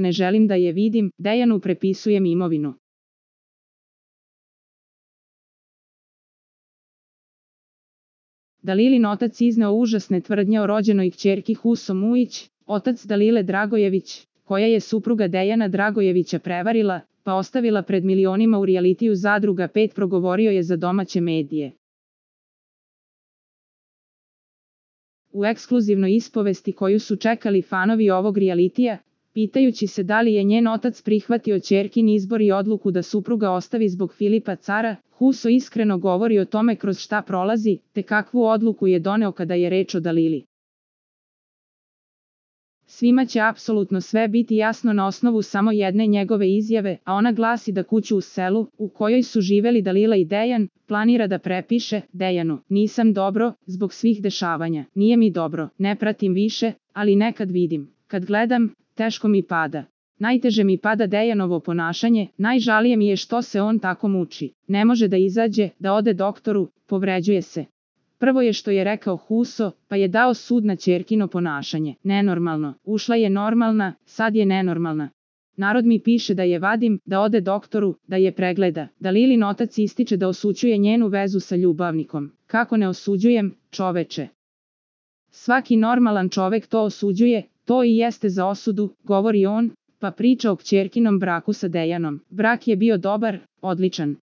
ne želim da je vidim, Dejanu prepisujem imovinu. Dalilin otac izneo užasne tvrdnje o rođenoj kćerki Huso Mujić, otac Dalile Dragojević, koja je supruga Dejana Dragojevića prevarila, pa ostavila pred milionima u rijalitiju Zadruga 5, progovorio je za domaće medije. U ekskluzivnoj ispovesti koju su čekali fanovi ovog rijalitija, pitajući se da li je njen otac prihvatio ćerkin izbor i odluku da supruga ostavi zbog Filipa Cara, Huso iskreno govori o tome kroz šta prolazi, te kakvu odluku je doneo kada je reč o Dalili. Svima će apsolutno sve biti jasno na osnovu samo jedne njegove izjave, a ona glasi da kuću u selu, u kojoj su živeli Dalila i Dejan, planira da prepiše Dejanu. Nisam dobro, zbog svih dešavanja. Nije mi dobro, ne pratim više, ali nekad vidim. Kad gledam, teško mi pada. Najteže mi pada Dejanovo ponašanje, najžalije mi je što se on tako muči. Ne može da izađe, da ode doktoru, povređuje se. Prvo je što je rekao Huso, pa je dao sud na ćerkino ponašanje. Nenormalno. Ušla je normalna, sad je nenormalna. Narod mi piše da je vadim, da ode doktoru, da je pregleda. Dalilin otac ističe da osuđuje njenu vezu sa ljubavnikom. Kako ne osuđujem, čoveče? Svaki normalan čovek to osuđuje, to i jeste za osudu, govori on, pa priča o kćerkinom braku sa Dejanom. Brak je bio dobar, odličan.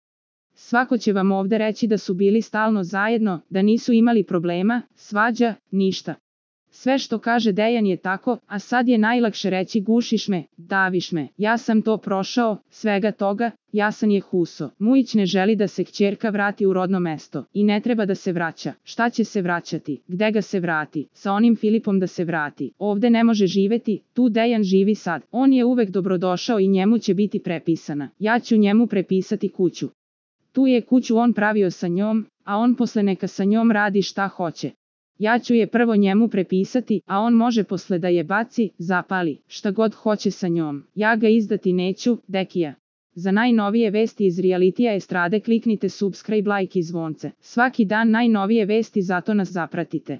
Svako će vam ovde reći da su bili stalno zajedno, da nisu imali problema, svađa, ništa. Sve što kaže Dejan je tako, a sad je najlakše reći gušiš me, daviš me. Ja sam to prošao, svega toga, jasan je Huso. Mujić ne želi da se kćerka vrati u rodno mesto. I ne treba da se vraća. Šta će se vraćati? Gde ga se vrati? Sa onim Filipom da se vrati. Ovde ne može živeti, tu Dejan živi sad. On je uvek dobrodošao i njemu će biti prepisana. Ja ću njemu prepisati kuću. Tu je kuću on pravio sa njom, a on posle neka sa njom radi šta hoće. Ja ću je prvo njemu prepisati, a on može posle da je baci, zapali, šta god hoće sa njom. Ja ga izdati neću, Dekija. Za najnovije vesti iz realitija estrade kliknite subscribe, like i zvonce. Svaki dan najnovije vesti, zato nas zapratite.